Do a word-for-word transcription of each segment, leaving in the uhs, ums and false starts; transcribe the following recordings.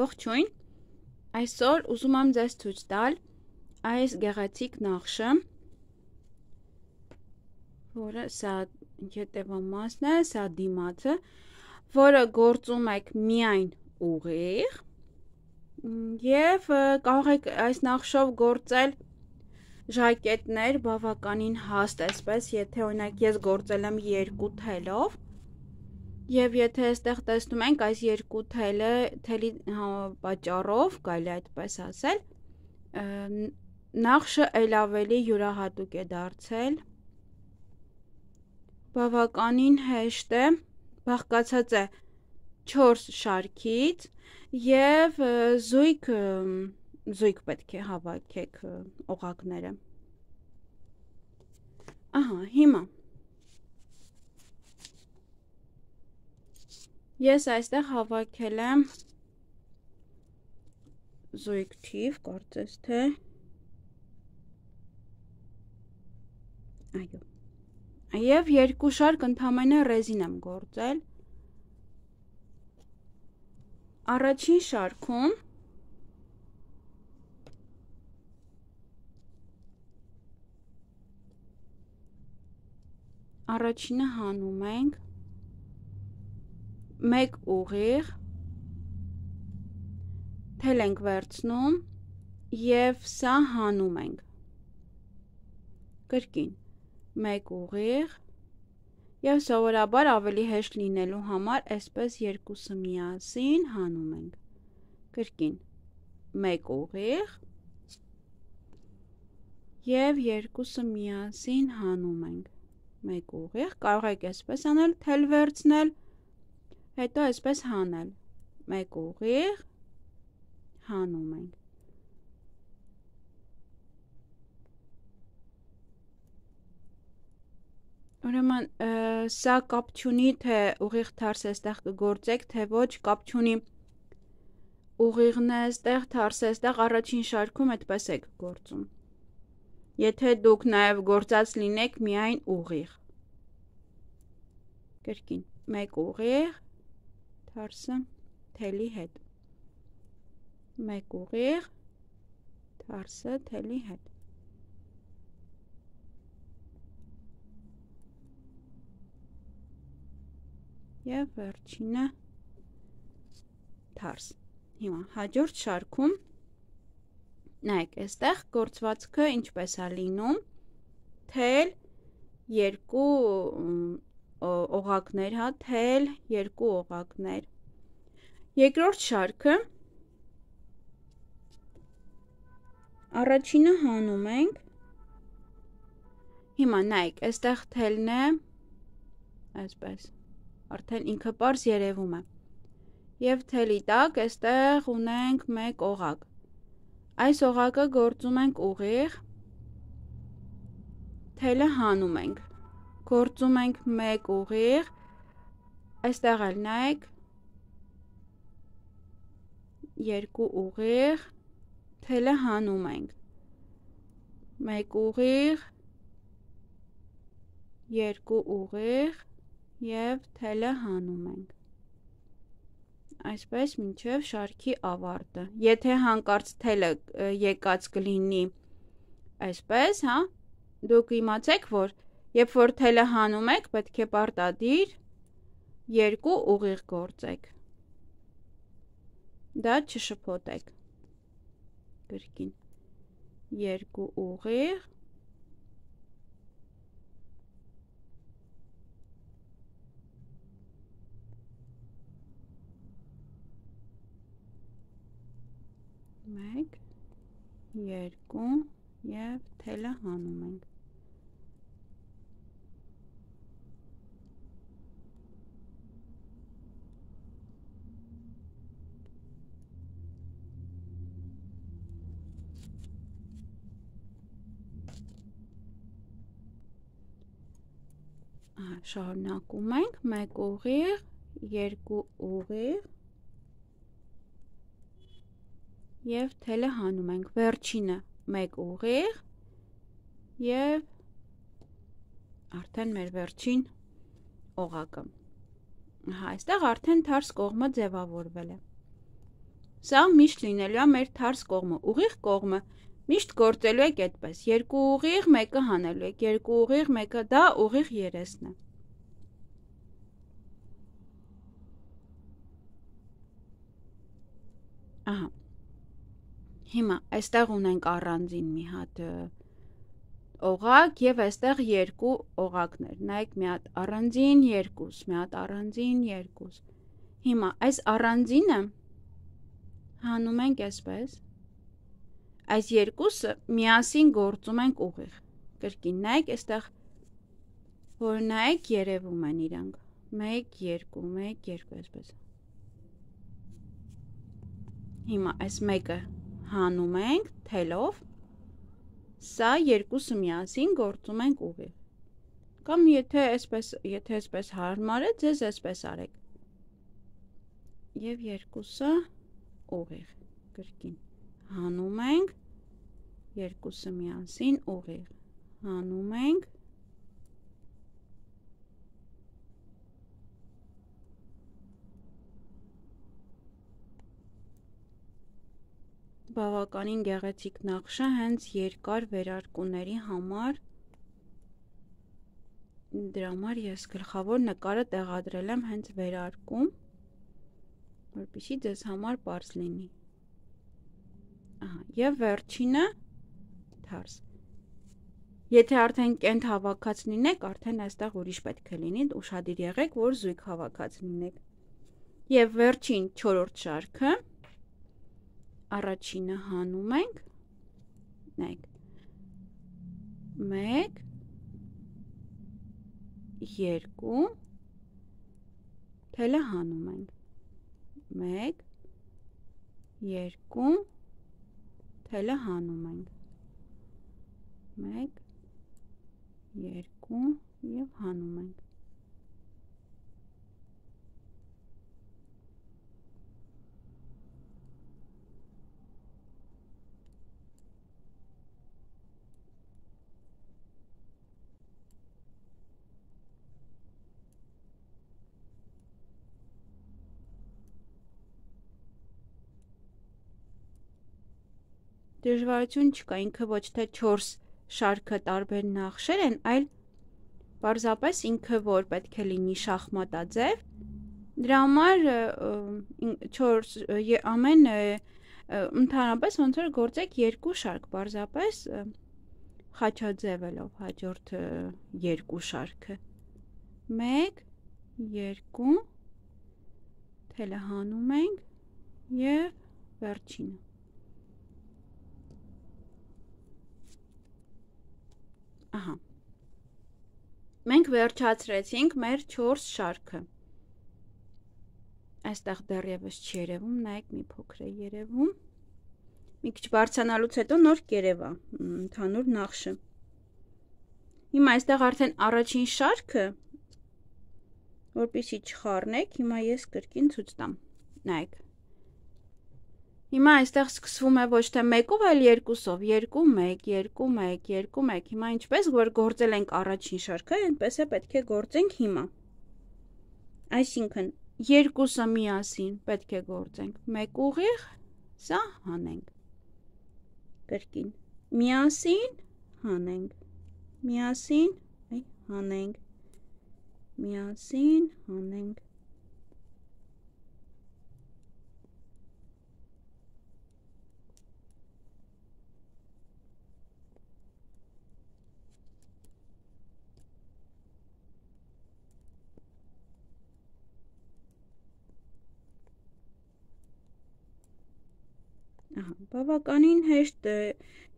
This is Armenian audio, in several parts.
Ողջույն, այսօր ուզում եմ ձեզ ցույց տալ այս գեղեցիկ նախշը, որը սա ետևամասն է, սա դիմացը, որը գործում եք միայն ուղիղ և կարող եք այս նախշով գործել ժակետներ բավականին հաստ, այսպես, եթե օրինակ ես գործել եմ երկու թելով, և եթե այստեղ տեսնում ենք այս երկու թելը, թելի պատճառով, կարելի է այդպես ասել, նախշը էլ ավելի յուրահատուկ է դարձել, բավականին հեշտ է, բաղկացած է չորս շարքից և զույգ, զույգ պետք է հավաքեք օղակները։ Ահա, հիմա ես այստեղ հավաքել եմ զույգ թիվ, կարծես թե, այո, և երկու շարք ընդամենը ռեզին եմ գործել, առաջին շարքում առաջինը հանում ենք, մեկ ուղիղ, թել ենք վերցնում և սա հանում ենք, կրկին, մեկ ուղիղ և սովորաբար ավելի հեշտ լինելու համար այսպես երկուսը միասին հանում ենք, կրկին, մեկ ուղիղ և երկուսը միասին հանում ենք, մեկ ուղիղ, կարող եք այսպես անել, թել վերցնել, հետո այսպես հանել, մեկ ուղիղ, հանում ենք, ուրեմն սա կապ չունի, թե ուղիղ թարս այստեղ կգործեք, թե ոչ, կապ չունի, ուղիղն է այստեղ, թարսը այստեղ, առաջին շարքում այդպես եք գործում, եթե դուք նաև գործած լինեք միայն ուղիղ, կրկին, մեկ ուղիղ, թարսը թելի հետ, մեկ ուղիղ, թարսը թելի հետ, և վերջինը թարս, հիմա հաջորդ շարքում, նայեք, այստեղ գործվածքը ինչպես է լինում, թել, երկու օղակներ, հա, թել, երկու օղակներ, երկրորդ շարքը, առաջինը հանում ենք, հիմա նայեք, այստեղ թելն է, այսպես, արդեն ինքը պարզ երևում է, և թելի տակ այստեղ ունենք մեկ օղակ, այս օղակը գործում ենք ուղիղ, թելը հանում ենք, գործում ենք մեկ ուղիղ, այստեղ էլ նայեք, երկու ուղիղ, թելը հանում ենք, մեկ ուղիղ, երկու ուղիղ և թելը հանում ենք, այսպես մինչև շարքի ավարտը, եթե հանկարծ թելը եկած կլինի այսպես, հա, դուք իմացեք, որ երբ որ թելը հանում եք, պետք է պարտադիր երկու ուղիղ գործեք, դա չշփոթեք, կրկին, երկու ուղիղ, մեկ, երկու և թելը հանում ենք, շարունակում ենք, մեկ ուղիղ, երկու ուղիղ և թելը հանում ենք, վերջինը մեկ ուղիղ և արդեն մեր վերջին օղակը, այստեղ արդեն թարս կողմը ձևավորվել է, Սա միշտ լինելու է մեր թարս կողմը, ուղիղ կողմը միշտ գործելու եք այդպես, երկու ուղիղ, մեկը հանելու եք, երկու ուղիղ, մեկը, դա ուղիղ երեսն է։ Ահա, հիմա այստեղ ունենք առանձին մի հատ օղակ և այստեղ երկու օղակներ, նայեք մի հատ առանձին երկուս, մի հատ առանձին երկուս, հիմա այս առանձինը հանում ենք այսպես, այս երկուսը միասին գործում ենք ուղիղ, կրկին նայեք այստեղ, որ նայեք երևում են իրանք, մեկ, երկու, մեկ, երկու, այսպես, հիմա այս մեկը հանում ենք թելով, սա երկուսը միասին գործում ենք ուղիղ, կամ եթե այսպես, եթե այսպես հարմար է, ձեզ այսպես արեք, և երկուսը ուղիղ, կրկին, հանում ենք, երկուսը միասին ուղիղ, հանում ենք, բավականին գեղեցիկ նախշը հենց երկար վերարկուների համար, դրա համար ես գլխավոր նկարը տեղադրել եմ հենց վերարկում, որպեսզի ձեզ համար պարզ լինի, և վերջինը թարս, եթե արդեն կենտ հավաքած լինեք, արդեն այստեղ ուրիշ պետք է լինի, ուշադիր եղեք, որ զույգ հավաքած լինեք, և վերջին չորրորդ շարքը, առաջինը հանում ենք, նայեք, մեկ, երկու, թելը հանում ենք, մեկ, երկու, թելը հանում ենք, մեկ, երկու և հանում ենք, դժվարություն չկա, ինքը ոչ թե չորս շարքը տարբեր նախշեր են, այլ պարզապես ինքը որ պետք է լինի շախմատաձև, դրա համար ամեն ընդհանրապես ոնց որ գործեք երկու շարք, պարզապես խաչաձևելով հաջորդ երկու շարքը, մեկ, երկու, թելը հանում ենք և վերջինը, ահա, մենք վերջացրեցինք մեր չորս շարքը, այստեղ դեռևս չի երևում, նայեք մի փոքր է երևում, մի քիչ բարձրանալուց հետո նոր կերևա ընդհանուր նախշը, հիմա այստեղ արդեն առաջին շարքը, որպեսզի չխառնեք, հիմա ես կրկին ցույց տամ, նայեք, հիմա այստեղ սկսվում է ոչ թե մեկով, այլ երկուսով, երկու, մեկ, երկու, մեկ, երկու, մեկ, հիմա ինչպես որ գործել ենք առաջին շարքը, այնպես է պետք է գործենք հիմա, այսինքն երկուսը միասին պետք է գործենք, մեկ ուղիղ, սա հանենք, կրկին, միասին հանենք, միասին հանենք, միասին հանենք, բավականին հեշտ է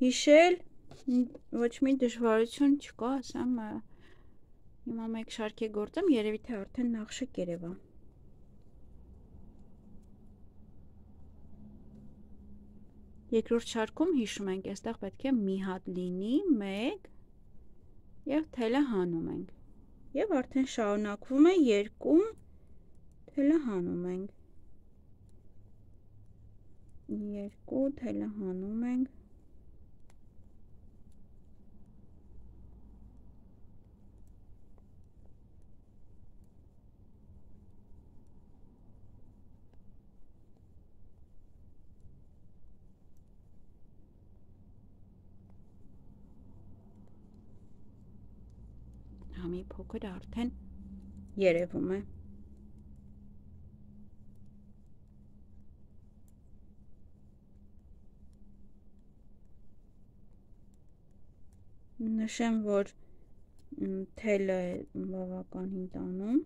հիշել, ոչ մի դժվարություն չկա, ասեմ, հիմա մեկ շարք է գործեմ, երևի թե արդեն նախշը կերևա, երկրորդ շարքում հիշում ենք, այստեղ պետք է մի հատ լինի, մեկ, և թելը հանում ենք, և արդեն շարունակվում է երկու, թելը հանում ենք, երկու, թելը հանում ենք, գրամի փոքր արդեն երևում է։ Նշեմ, որ թելը բավականին տանում,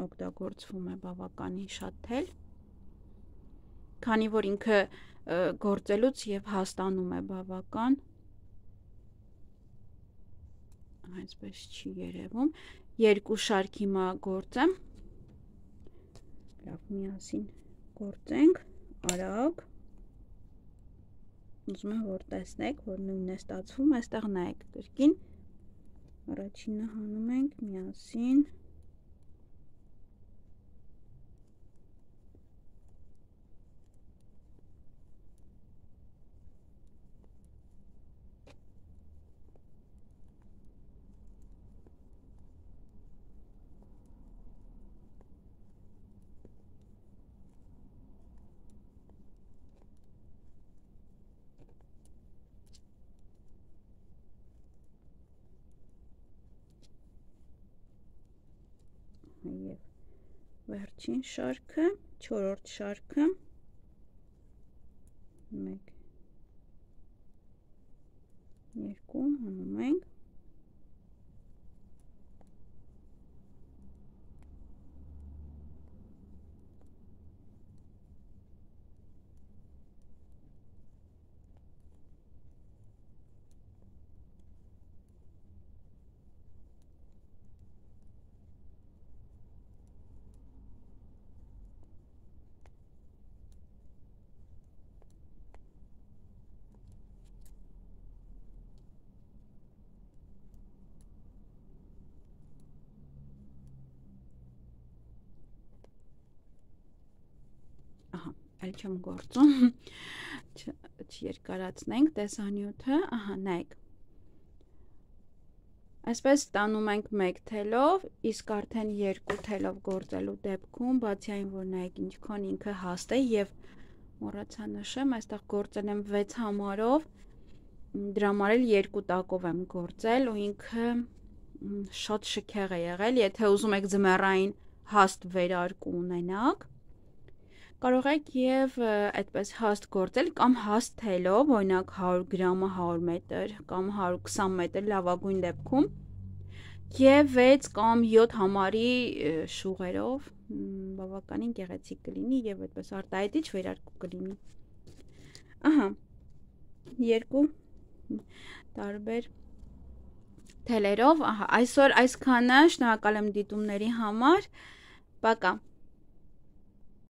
օգտագործվում է բավականին շատ թել, քանի որ ինքը գործելուց և հաստանում է բավական, այսպես չի երևում, երկու շարք հիմա գործեմ, լավ միասին գործենք, արագ, ուզում եմ, որ տեսնեք, որ նույնն է ստացվում, այստեղ նայեք կրկին, առաջինը հանում ենք միասին, և վերջին շարքը, չորրորդ շարքը, մեկ, երկու, հանում ենք, ահա, այլ չեմ գործում, չերկարացնենք տեսանյութը, ահա, նայեք, այսպես ստանում ենք մեկ թելով, իսկ արդեն երկու թելով գործելու դեպքում, բացի այն, որ նայեք ինչքան ինքը հաստ է և մոռացա նշեմ, այստեղ գործել եմ վեց համարով, դրա համար էլ երկու տակով եմ գործել ու ինքը շատ շքեղ է եղել, եթե ուզում եք ձմեռային հաստ վերարկու ունենաք, կարող եք և այդպես հաստ գործել կամ հաստ թելով, օրինակ հարյուր գրամը հարյուր մետր կամ հարյուր քսան մետր լավագույն դեպքում և վեց կամ յոթ համարի շուղերով բավականին գեղեցիկ կլինի և այդպես արտահայտիչ վերարկու կլինի։ Ահա, երկու տարբեր թելերով, ահա, այսօր այսքանը, շնորհակալ եմ դիտումների համար, պակա։